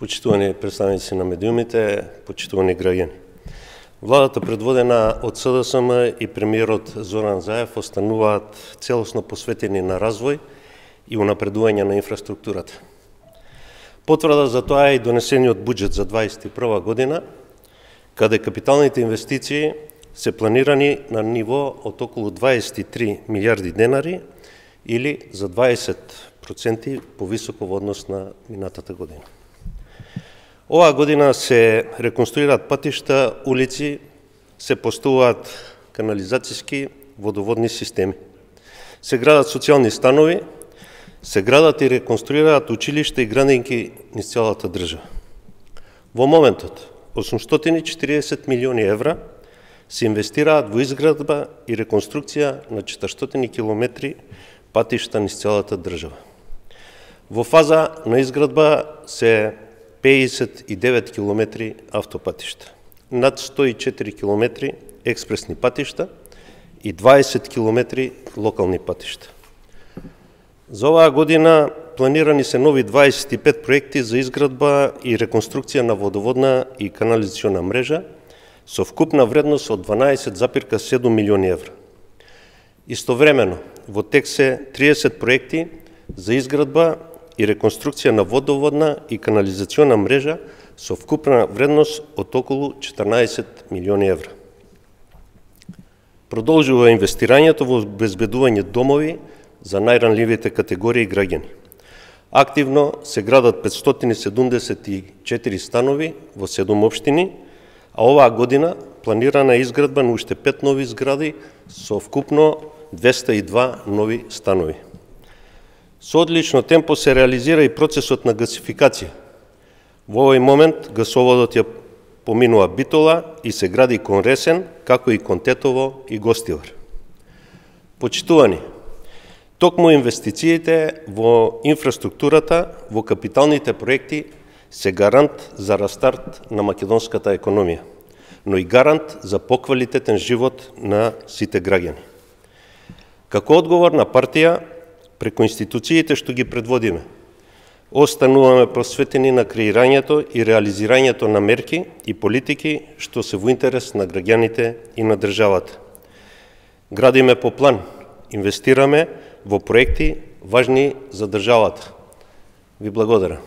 Почитувани представници на медиумите, почитувани граѓани. Владата предводена од СДСМ и премиерот Зоран Заев остануваат целосно посветени на развој и унапредување на инфраструктурата. Потврда за тоа е и донесениот буџет за 2021 година, каде капиталните инвестиции се планирани на ниво од околу 23 милиарди денари или за 20% повисоко во однос на минатата година. Оваа година се реконструираат патишта, улици, се поставуваат канализацијски водоводни системи. Се градат социјални станови, се градат и реконструираат училишта и градинки низ целата држава. Во моментот 840 милиони евра се инвестираат во изградба и реконструкција на 400 километри патишта низ целата држава. Во фаза на изградба се 59 километри автопатишта, над 104 километри експресни патишта и 20 километри локални патишта. За оваа година планирани се нови 25 проекти за изградба и реконструкција на водоводна и канализациона мрежа со вкупна вредност од 12,7 милиони евра. Истовремено, во тек се 30 проекти за изградба и реконструкција на водоводна и канализациона мрежа со вкупна вредност од околу 14 милиони евра. Продолжува инвестирањето во обезбедување домови за најранливите категории граѓани. Активно се градат 574 станови во 7 општини, а оваа година планирана е изградба на уште 5 нови згради со вкупно 202 нови станови. Со одлично темпо се реализира и процесот на гасификација. Во овој момент гасоводот ја поминува Битола и се гради кон Ресен, како и кон Тетово и Гостивар. Почитувани, токму инвестициите во инфраструктурата, во капиталните проекти се гарант за растарт на македонската економија, но и гарант за поквалитетен живот на сите граѓани. Како одговорна партија, преку институциите што ги предводиме, остануваме посветени на креирањето и реализирањето на мерки и политики што се во интерес на граѓаните и на државата. Градиме по план, инвестираме во проекти важни за државата. Ви благодарам.